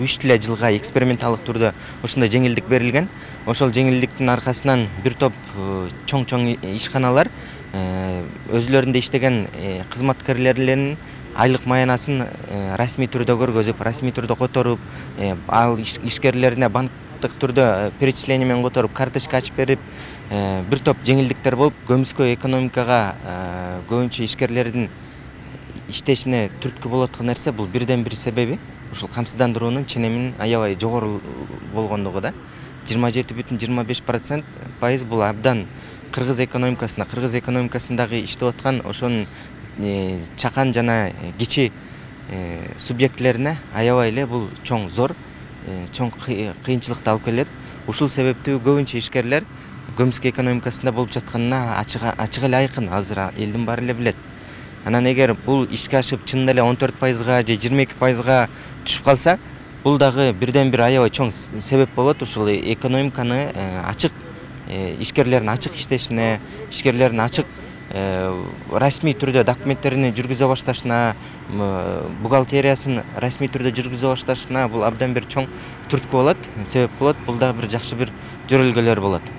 3 эле жылга эксперименталдык түрдө ушундай жеңилдик берилген. Ошол жеңилдиктин аркасынан бир топ чоң ишканалар өзүлөрүндө иштеген кызматкерлеринин айлык маянасын расмий түрдө көргөзүп, расмий түрдө которуп, ал ишкерлерине банктык түрдө перечисление менен которуп, карточка ачып берип, бир топ жеңилдиктер болуп, көмүскө экономикага көбүнчө ишкерлердин иштешине түрткү болуп аткан нерсе бул бирден бир себеби ушул камсыздандыруунун ченеминин аябай жогору болгондугу да. 27,25% бул абдан кыргыз экономикасындагы иштеп аткан ошонун чакан жана кичи субъектилерине аябай эле бул зор кыйынчылыкты алып келет. Ушул себептүү көбүнчө ишкерлер көмүскө экономикасында болуп жатканына ачык эле айкын, азыр элдин баары эле билет. Анан эгер бул ишке ашып чынында эле 14%га же 22%га түшүп калса, бул дагы бирден бир аябай чоң себеп болот ушул экономиканы ачык, ишкерлердин ачык иштешине, ишкерлердин ачык расмий түрдө документтерин жүргүзө башташына, бухгалтериясын расмий түрдө жүргүзө башташына бул абдан бир чоң түрткү болот, себеп болот. Бул дагы бир жакшы бир жөрөлгөлөр болот.